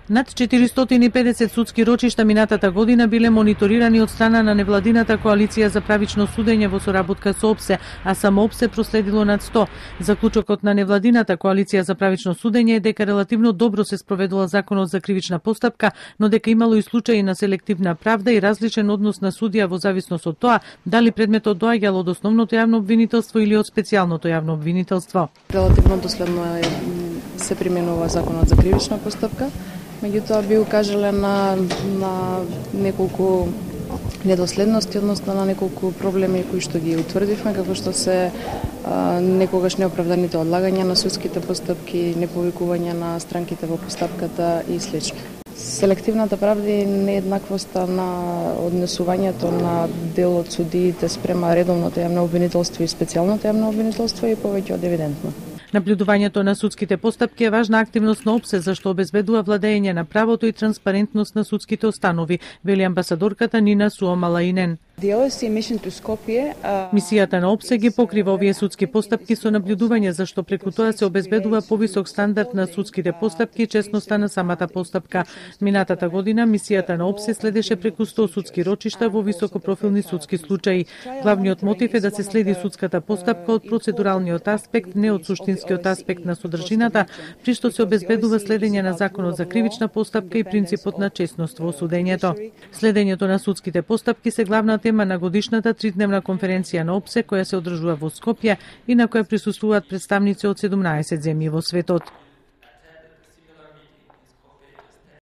Над 450 судски рочишта минатата година биле мониторирани од страна на невладината коалиција за правично судење во соработка со ОПСЕ, а само ОПСЕ проследило над 100. Заклучокот на невладината коалиција за правично судење е дека релативно добро се спроведува законот за кривична постапка, но дека имало и случаи на селективна правда и различен однос на судија во зависност од тоа дали предметот доаѓал од основното јавно обвинителство или од специјалното јавно обвинителство. Релативно доследно се применува законот за кривична постапка. Меѓутоа би укажале на неколку недоследности, односно на неколку проблеми кои што ги утврдивме, како што се некогаш неоправданите одлагања на судските постапки, неповикување на странките во постапката и слично. Селективната правда и нееднаквоста на однесувањето на дел од судиите спрема редовното јавно обвинителство и специјалното јавно обвинителство е повеќе од евидентно. Наблюдувањето на судските постапки е важна активност на ОПСЕ зашто обезбедува владење на правото и транспарентност на судските установи, вели амбасадорката Нина Суомалаинен. Мисијата на ОПСЕ ги покрива овие судски постапки со наблюдување зашто преку тоа се обезбедува повисок стандард на судските постапки и честноста на самата постапка. Минатата година мисијата на ОПСЕ следеше преку 100 судски рочишта во високопрофилни судски случаи. Главниот мотив е да се следи судската постапка од процедуралниот аспект, не од суштинскиот аспект на содржината, при што се обезбедува следење на законот за кривична постапка и принципот на честност во судењето. Следењето на судските постапки се главна тема на годишната тридневна конференција на ОПСЕ која се одржува во Скопје и на која присуствуваат представници од 17 земји во светот.